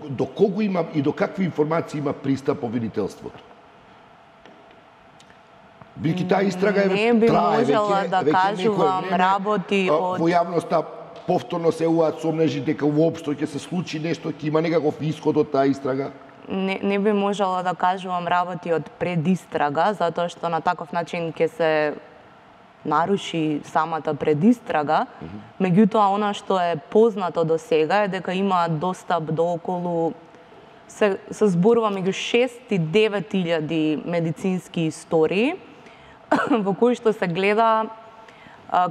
До кого има и до какви информации има пристап обвинителството? Бидејќи таа истрага не би трае можела да кажувам работи од во јавноста повторно се јавуваат сомнежи дека воопшто ќе се случи нешто, ќе има некаков исход од таа истрага? Не би можела да кажувам работи од предистрага, затоа што на таков начин ќе се наруши самата предистрага. Меѓутоа, она што е познато до сега е дека има достап до околу се зборува меѓу 6 и 9.000 медицински истории во кои што се гледа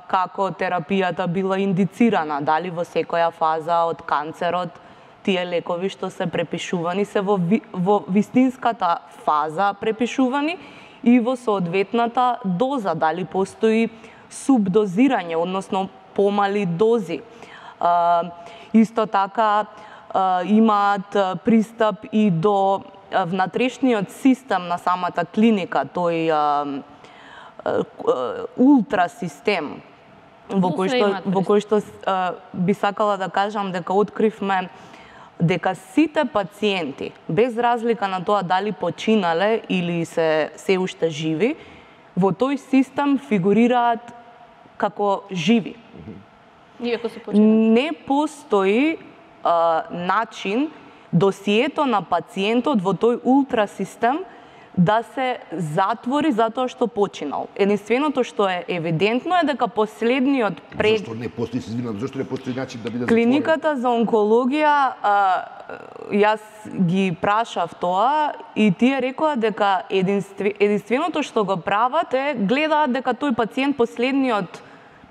како терапијата била индицирана, дали во секоја фаза од канцерот тие лекови што се препишувани се во вистинската фаза препишувани и во соодветната доза, дали постои субдозирање, односно помали дози. Исто така имаат пристап и до внатрешниот систем на самата клиника, тој ултрасистем, во кој што би сакала да кажам дека откривме дека сите пациенти, без разлика на тоа дали починале или се уште живи, во тој систем фигурираат како живи. Не постои начин досието на пациентот во тој ултрасистем да се затвори затоа што починал. Единственото што е евидентно е дека последниот Зашто не постои, се извинувам, зашто не постои начин да биде затворен? Клиниката за онкологија, јас ги прашав тоа и тие рекоа дека единственото што го прават е гледаат дека тој пациент последниот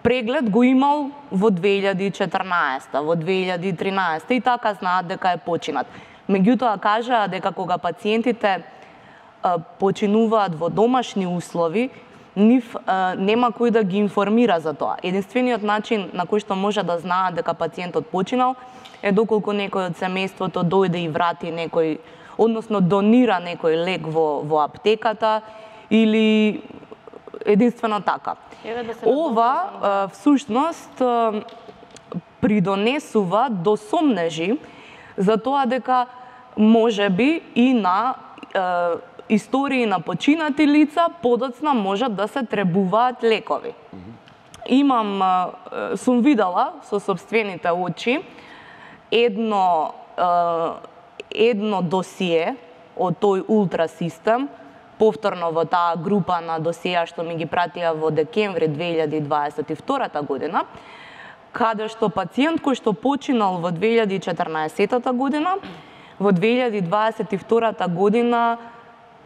преглед го имал во 2014, во 2013 и така знаат дека е починат. Меѓутоа кажаа дека кога пациентите починуваат во домашни услови, нив нема кој да ги информира за тоа. Единствениот начин на кој што може да знаат дека пациентот починал е доколку некој од семејството дојде и врати некој, односно донира некој лек во аптеката или единствено така. Ова всушност придонесува до сомнежи за тоа дека можеби и на истории на починати лица подоцна можат да се требуваат лекови. Сум видела со сопствените очи едно досие од тој ултрасистем, повторно во таа група на досија што ми ги пратија во декември 2022 година, каде што пациент кој што починал во 2014 година, во 2022 година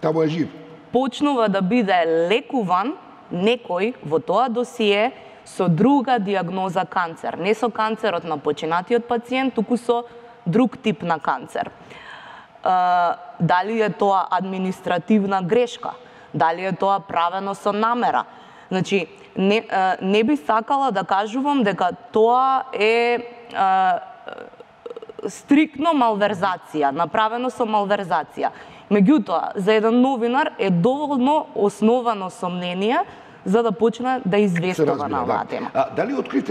таму е жив. Почнува да биде лекуван некој во тоа досие со друга диагноза канцер. Не со канцерот на починатиот пациент, туку со друг тип на канцер. Дали е тоа административна грешка? Дали е тоа правено со намера? Значи, не би сакала да кажувам дека тоа е стриктно малверзација, направено со малверзација. Меѓутоа, за еден новинар е доволно основано сомнение за да почне да известува на оваа тема. Дали откривте